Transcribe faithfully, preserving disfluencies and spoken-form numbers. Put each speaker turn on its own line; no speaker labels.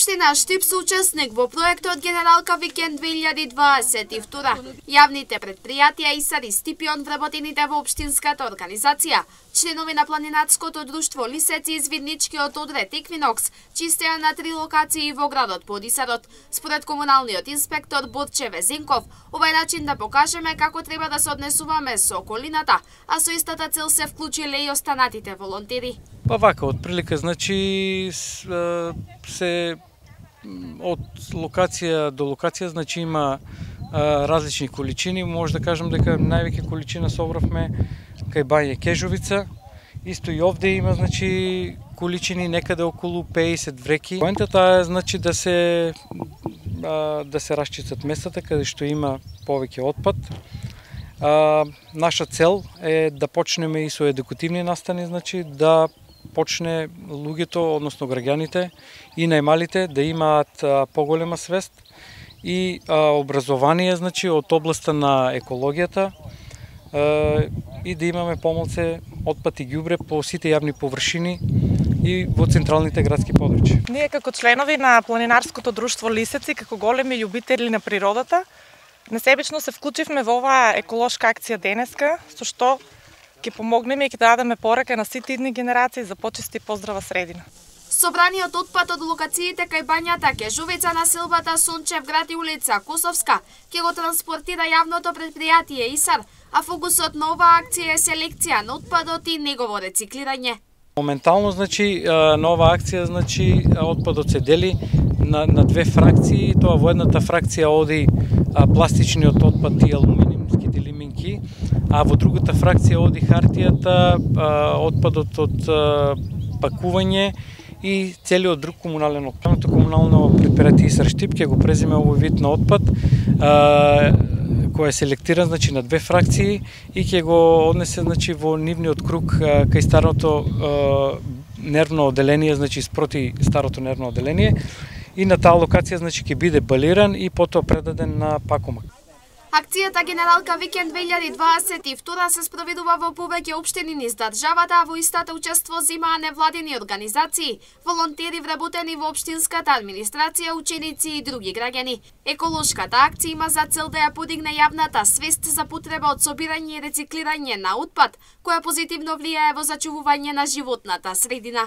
Општина Штип се учесник во проектот Генералка Викенд две илјади дваесет и втора. Јавните предпријатија ИСАР и Стипион вработените во општинската организација, членови на планинарското друштво Лисец и извидничкиот одред Еквинокс, чистеа на три локации во градот под ИСАРот. Според комуналниот инспектор Борче Везенков, овај начин да покажеме како треба да се однесуваме со околината, а со истата цел се вклучиле и останатите волонтери.
Па вака, од прилика, значи, се од локација до локација, значи има а, различни количини, може да кажем дека највеќе количина собравме кај бање Кежовица, исто и овде има, значи, количини некаде околу пеесет вреки. Поентата е, значи, да се а, да се расчистат местата каде што има повеќе отпад. А, наша цел е да почнеме и со едукативни настани, значи, да почне луѓето, односно граѓаните и најмалите да имаат а, поголема свест и а, образование, значи, од областа на екологијата а, и да имаме помалце отпад и ѓубре по сите јавни површини и во централните градски подрачја.
Ние како членови на планинарското друштво Лисец и како големи љубители на природата, несебично се вклучивме во оваа еколошка акција денеска, со што ќе помогнеме и ќе дадеме порака на сите идни генерации за почиста и поздрава средина.
Собраниот отпад од локациите кај бањата Кежовица, населбата Сончев град и улица Косовска ќе го транспортира јавното предпријатие ИСАР, а фокусот на оваа акција е селекција на отпадот и негово рециклирање.
Моментално, значи, на оваа акција, значи, отпадот се дели на, на две фракции, тоа во едната фракција оди пластичниот отпад и алуминиумските лиминки, а во другата фракција оди хартијата, отпадот од пакување и целиот друг комунален отпад. Комунално предпријатие ИСАР Штип ќе го преземе овој вид на отпад, кој е селектиран, значи, на две фракции и ќе го однесе, значи, во нивниот круг кај старото нервно оделение, значи спроти старото нервно оделение, и на таа локација, значи, ќе биде балиран и потоа предаден на пакомак.
Акцијата Генералка Викенд две илјади дваесет и втора се спроведува во повеќе општини низ државата, а во истата учество земаа невладини организации, волонтери вработени во општинската администрација, ученици и други граѓани. Еколошката акција има за цел да ја подигне јавната свест за потреба од собирање и рециклирање на отпад, која позитивно влијае во зачувување на животната средина.